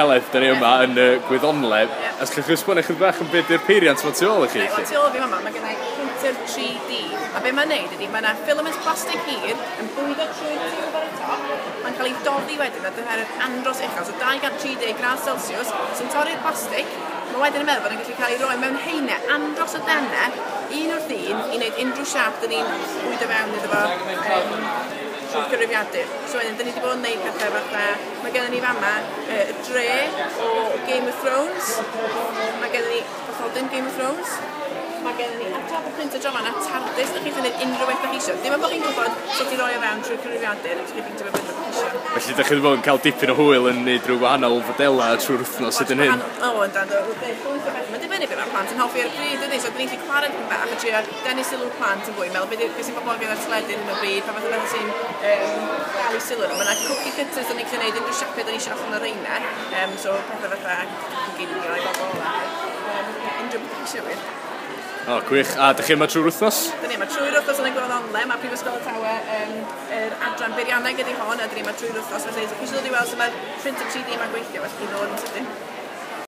Heledd, da ni yma yn y Gwyddonle. Yeah. A allwch chi esbonio chydig bach yn beth yw'r peiriant ma tu ôl i chi? Reit, wel, tu ôl fi fama, mae gennau printer 3D. A be mae'n neud ydy, mae yna filament plastig hir yn bwydo trwy'r tiwb ar y top. Mae'n cael ei doddi wedyn ar dymheredd andros uchel, so 230 gradd Celsius, sy'n torri'r plastig. Mae wedyn yn meddwl bod yn gallu cael ei roi mewn haenau andros o denau, un wrth un, i wneud unrhyw siâp dyn ni'n bwydo fewn iddo fo trwy'r cyfrifiadur. So wedyn, dyn ni wedi bod yn gwneud pethau fatha, mae gennym ni fama y dre o Game of Thrones, mae gennym ni bathodyn Game of Thrones, mae gennym ni ar top y printer draw fan'na TARDIS, dych chi'n gallu gwneud unrhyw beth dych chi eisiau. Dim ond bod chi'n gwybod sut i roi o fewn trwy'r cyfrifiadur, ydych chi'n printio fe beth dych chi eisiau. Felly dych chi wedi bod yn cael dipyn o hwyl yn neud rhyw wahanol fodelau trwy'r wythnos hyd yn hyn? O, yndan, do, llwyth o bethau. Mae'n dibynnu beth mae'r plant yn hoffi ar y pryd, dydy? So, dyn ni'n gallu chwarae dipyn bach a trio denu sylw plant yn fwy, meddwl beth beth sy'n boblogaidd ar teledu ar hyn o bryd, pa fath o bethau sy'n dal i sylw nhw. Mae yna cookie cutters dyn ni'n gallu gwneud unrhyw siapiau dyn ni eisiau allan o'r reina, so pethau fatha coginio i bobl a unrhyw beth chi eisiau wir. O, gwych. A dych chi yma trwy'r wythnos? Dyn ni yma trwy'r wythnos yn y Gwyddonle. Mae Prifysgol Tawe, yr adran beirianneg ydy hon, a dyn ni yma trwy'r wythnos. Felly, os chi eisiau dod i weld sut mae'r printer 3D yma'n gweithio, felly chi'n dod yn sydyn.